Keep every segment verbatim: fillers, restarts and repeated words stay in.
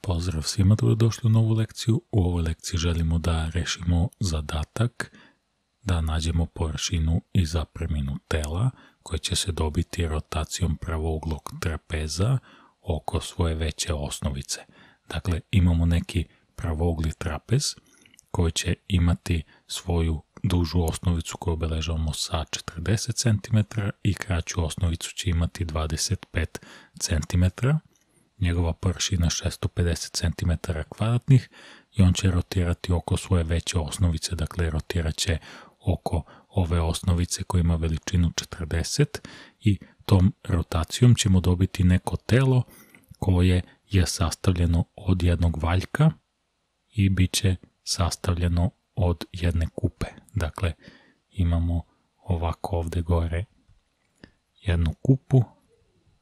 Pozdrav svima, dobrodošli u novu lekciju. U ovoj lekciji želimo da rešimo zadatak da nađemo površinu i zapreminu tela koje će se dobiti rotacijom pravouglog trapeza oko svoje veće osnovice. Dakle, imamo neki pravougli trapez koji će imati svoju dužu osnovicu koju obeležavamo sa četrdeset centimetara i kraću osnovicu će imati dvadeset pet centimetara. Njegova površina je šessto pedeset centimetara kvadratnih i on će rotirati oko svoje veće osnovice, dakle rotirat će oko ove osnovice koja ima veličinu četrdeset i tom rotacijom ćemo dobiti neko telo koje je sastavljeno od jednog valjka i bit će sastavljeno od jedne kupe. Dakle, imamo ovako ovde gore jednu kupu,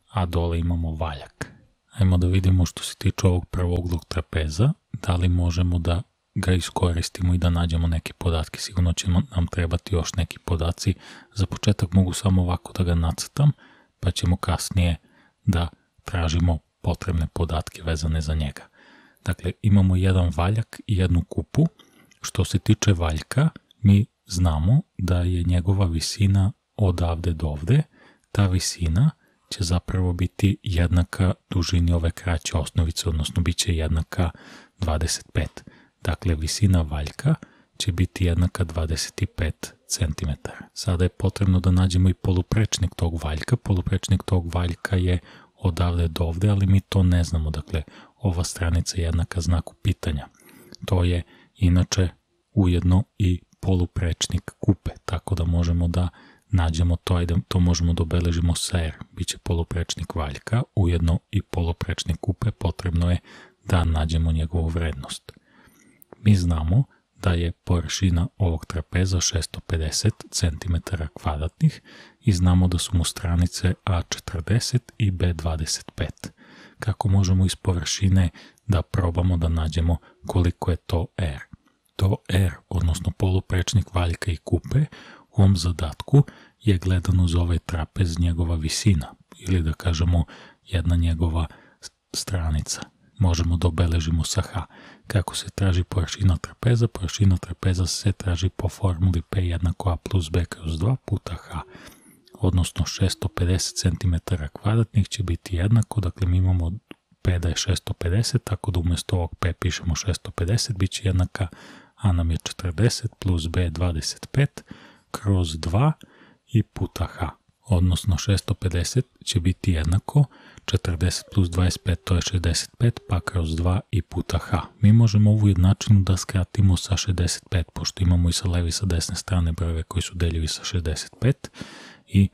a dole imamo valjak. Ajmo da vidimo što se tiče ovog pravouglog trapeza, da li možemo da ga iskoristimo i da nađemo neke podatke. Sigurno će nam trebati još neki podaci. Za početak mogu samo ovako da ga nacrtam, pa ćemo kasnije da tražimo potrebne podatke vezane za njega. Dakle, imamo jedan valjak i jednu kupu. Što se tiče valjka, mi znamo da je njegova visina odavde do ovde. Ta visina će zapravo biti jednaka dužini ove kraće osnovice, odnosno bit će jednaka dvadeset pet. Dakle, visina valjka će biti jednaka dvadeset pet centimetara. Sada je potrebno da nađemo i poluprečnik tog valjka. Poluprečnik tog valjka je odavde do ovde, ali mi to ne znamo. Dakle, ova stranica je jednaka znaku pitanja. To je inače ujedno i poluprečnik kupe, tako da možemo da nađemo to, ajde, to možemo da obeležimo sa R. Biće poluprečnik valjka, ujedno i poluprečnik kupe, potrebno je da nađemo njegovu vrednost. Mi znamo da je površina ovog trapeza šessto pedeset centimetara kvadratnih i znamo da su mu stranice A četrdeset i B dvadeset pet. Kako možemo iz površine da probamo da nađemo koliko je to R? To R, odnosno poluprečnik valjka i kupe, u ovom zadatku je gledano za ovaj trapez njegova visina, ili da kažemo jedna njegova stranica. Možemo da obeležimo sa H. Kako se traži površina trapeza? Površina trapeza se traži po formuli P jednako A plus B kroz dva puta H, odnosno šessto pedeset centimetara kvadratnih će biti jednako, dakle mi imamo P da je šessto pedeset, tako da umjesto ovog P pišemo šessto pedeset, bit će jednaka A nam je četrdeset plus B dvadeset pet kroz dva i puta H, odnosno šessto pedeset će biti jednako četrdeset plus dvadeset pet, to je šezdeset pet, pa kroz dva i puta H. Mi možemo ovu jednačinu da skratimo sa šezdeset pet, pošto imamo i sa leve i sa desne strane brojeve koji su deljivi sa šezdeset pet i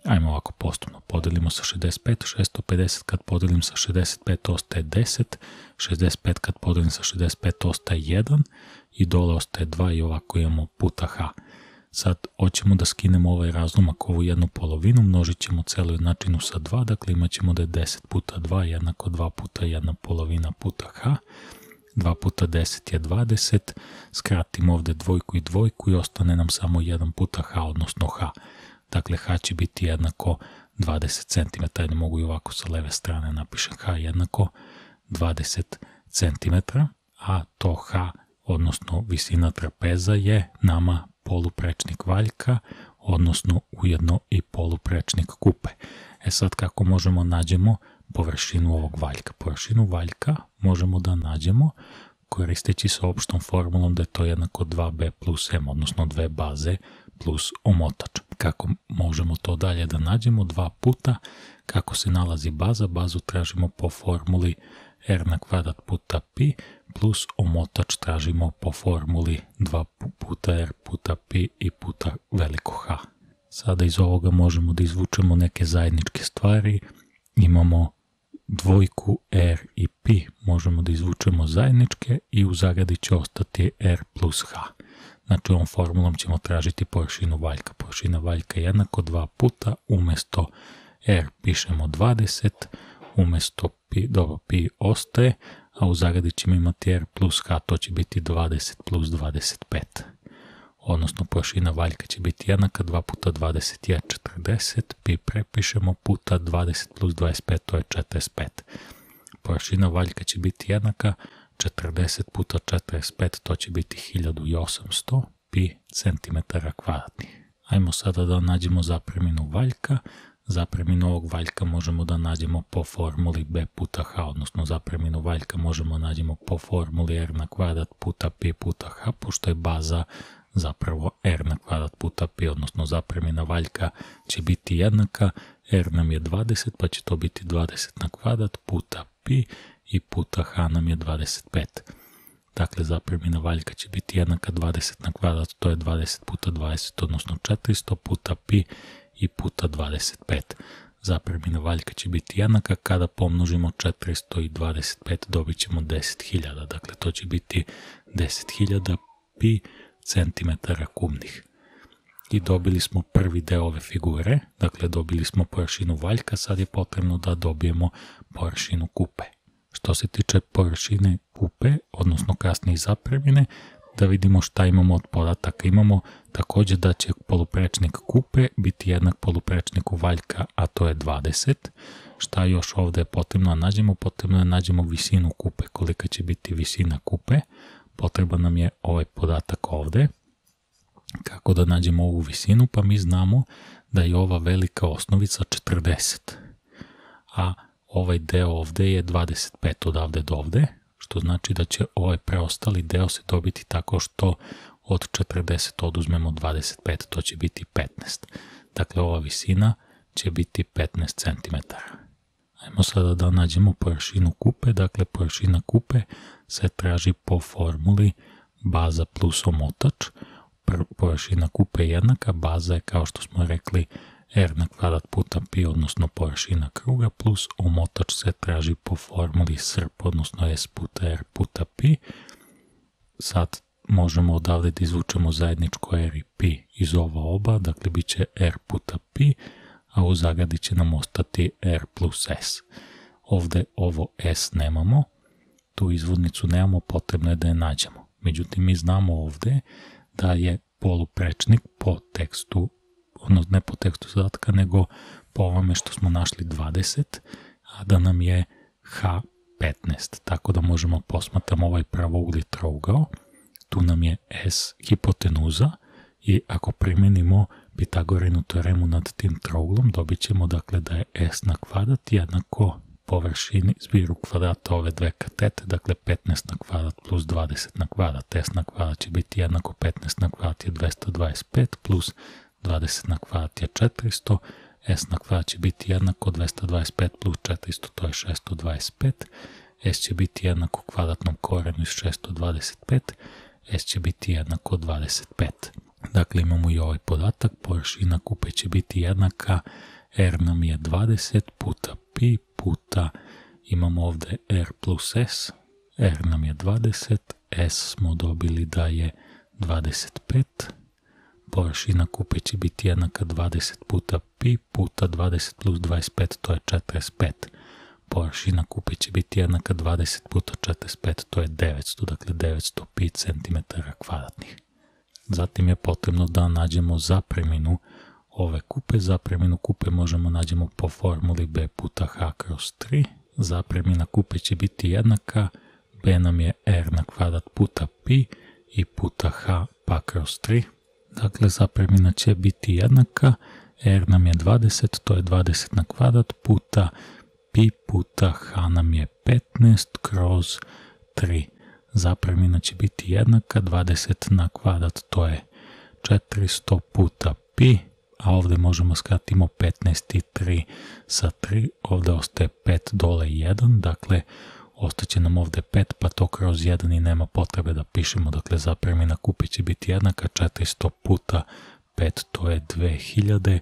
ajmo ovako postupno, podelimo sa šezdeset pet, šessto pedeset kad podelim sa šezdeset pet ostaje deset, šezdeset pet kad podelim sa šezdeset pet ostaje jedan i dole ostaje dva i ovako imamo puta H. Sad hoćemo da skinemo ovaj razlomak, ovu jednu polovinu, množit ćemo celu jednačinu sa dva, dakle imat ćemo da je deset puta dva jednako dva puta jedna polovina puta H, dva puta deset je dvadeset, skratimo ovde dvojku i dvojku i ostane nam samo jedan puta H, odnosno H. Dakle, H će biti jednako dvadeset centimetara, ne mogu i ovako sa leve strane napišem H jednako dvadeset centimetara, a to H, odnosno visina trapeza je nama poluprečnik valjka, odnosno ujedno i poluprečnik kupe. E sad kako možemo nađemo površinu ovog valjka? Površinu valjka možemo da nađemo koristeći se opštom formulom da je to jednako dva B plus M, odnosno dve baze plus omotač. Kako možemo to dalje da nađemo? Dva puta kako se nalazi baza, bazu tražimo po formuli R na kvadrat puta pi plus omotač tražimo po formuli dva puta R puta pi i puta veliko H. Sada iz ovoga možemo da izvučemo neke zajedničke stvari. Imamo dvojku R i pi, možemo da izvučemo zajedničke i u zagradi će ostati R plus H. Znači ovom formulom ćemo tražiti površinu valjka. Površina valjka je jednako dva puta, umesto R pišemo dvadeset, umesto pi, dobro, pi ostaje, a u zagradi ćemo imati R plus H, to će biti dvadeset plus dvadeset pet. Odnosno površina valjka će biti jednaka, dva puta dvadeset je četrdeset, pi prepišemo puta dvadeset plus dvadeset pet, to je četrdeset pet. površina valjka će biti jednaka četrdeset puta četrdeset pet, to će biti hiljadu osamsto pi centimetara kvadratnih. Ajmo sada da nađemo zapreminu valjka. Zapreminu ovog valjka možemo da nađemo po formuli b puta h, odnosno zapreminu valjka možemo nađemo po formuli r na kvadrat puta pi puta h, pošto je baza zapravo r na kvadrat puta pi, odnosno zapremina valjka će biti jednaka, r nam je dvadeset, pa će to biti dvadeset na kvadrat puta pi i puta h nam je dvadeset pet. Dakle, zapremina valjka će biti jednaka dvadeset na kvadrat, to je dvadeset puta dvadeset, odnosno četiristo puta pi i puta dvadeset pet. Zapremina valjka će biti jednaka kada pomnožimo četiristo i dvadeset pet, dobit ćemo deset hiljada. Dakle, to će biti deset hiljada pi centimetara kubnih. I dobili smo prvi deo ove figure, dakle dobili smo površinu valjka, sad je potrebno da dobijemo površinu kupe. Što se tiče površine kupe, odnosno kasnije zapremine, da vidimo šta imamo od podataka. Imamo također da će poluprečnik kupe biti jednak poluprečniku valjka, a to je dvadeset. Šta još ovdje je potrebno da nađemo? Potrebno da nađemo visinu kupe, kolika će biti visina kupe. Potreban nam je ovaj podatak ovdje. Kako da nađemo ovu visinu? Pa mi znamo da je ova velika osnovica četrdeset, a ovaj deo ovdje je dvadeset pet odavde do ovdje, što znači da će ovaj preostali deo se dobiti tako što od četrdeset oduzmemo dvadeset pet, to će biti petnaest. Dakle, ova visina će biti petnaest centimetara. Ajmo sada da nađemo površinu kupe. Dakle, površina kupe se traži po formuli baza plus omotač. Površina kupe je jednaka, baza je kao što smo rekli r na kvadrat puta pi, odnosno površina kruga, plus omotač se traži po formuli srp, odnosno s puta r puta pi. Sad možemo odavde da izvučemo zajedničko r i pi iz ova oba, dakle bit će r puta pi, a u zagradi će nam ostati r plus s. Ovdje ovo s nemamo, tu izvodnicu nemamo, potrebno je da je nađemo. Međutim, mi znamo ovdje da je poluprečnik po tekstu, odnosno ne po tekstu zadatka, nego po ovome što smo našli dvadeset, a da nam je h petnaest. Tako da možemo posmatrati ovaj pravougli trougao. Tu nam je s hipotenuza i ako primjenimo Pitagorinu teoremu nad tim trouglom, dobit ćemo dakle da je s na kvadrat jednako površini zbiru kvadrata ove dve katete, dakle petnaest na kvadrat plus dvadeset na kvadrat. S na kvadrat će biti jednako petnaest na kvadrat je dvesta dvadeset pet plus dvadeset na kvadrat je četiristo, s na kvadrat će biti jednako dvesta dvadeset pet plus četiristo, to je šesto dvadeset pet, s će biti jednako kvadratnom korenu iz šesto dvadeset pet, s će biti jednako dvadeset pet. Dakle, imamo i ovaj podatak, površina kupe će biti jednaka, r nam je dvadeset puta pi puta, imamo ovdje r plus s, r nam je dvadeset, s smo dobili da je dvadeset pet, površina kupe će biti jednaka dvadeset puta pi puta dvadeset plus dvadeset pet, to je četrdeset pet. Površina kupe će biti jednaka dvadeset puta četrdeset pet, to je devetsto, dakle devetsto pi centimetara kvadratnih. Zatim je potrebno da nađemo zapreminu ove kupe. Zapreminu kupe možemo nađemo po formuli b puta h kroz tri. Zapremina kupe će biti jednaka, b nam je r na kvadrat puta pi i puta h pa kroz tri. Dakle, zapremina će biti jednaka, r nam je dvadeset, to je dvadeset na kvadrat puta pi puta h nam je petnaest kroz tri. Zapremina će biti jednaka, dvadeset na kvadrat, to je četiristo puta pi, a ovdje možemo skratimo petnaest i tri sa tri, ovdje ostaje pet dole i jedan, dakle ostaće nam ovdje pet, pa to kroz jedan i nema potrebe da pišemo, dakle zapremina kupe će biti jednaka, četiristo puta pet, to je dve hiljade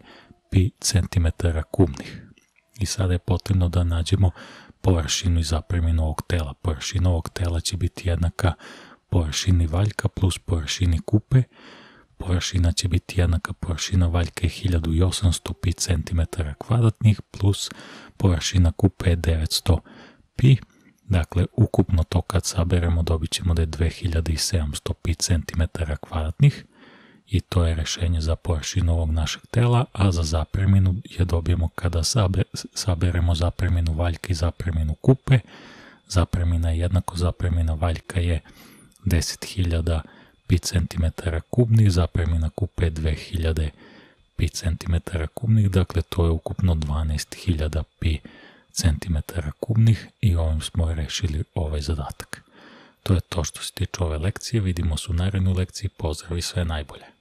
pi centimetara kubnih. I sada je potrebno da nađemo površinu i zapreminu ovog tela. Površina ovog tela će biti jednaka površini valjka plus površini kupe. Površina će biti jednaka, površina valjka je hiljadu osamsto pi centimetara kvadratnih plus površina kupe je devetsto pi. Dakle, ukupno to kad saberemo dobit ćemo da je dve hiljade sedamsto pi centimetara kvadratnih. i to je rešenje za površinu ovog našeg tela, a za zapreminu je dobijemo kada saberemo zapreminu valjka i zapreminu kupe. Zapremina je jednako, zapremina valjka je deset hiljada pi centimetara kubnih, zapremina kupe je dve hiljade pi centimetara kubnih, dakle to je ukupno dvanaest hiljada pi centimetara kubnih i ovim smo rešili ovaj zadatak. To je to što se tiče ove lekcije, vidimo se u narednoj lekciji, pozdrav i sve najbolje.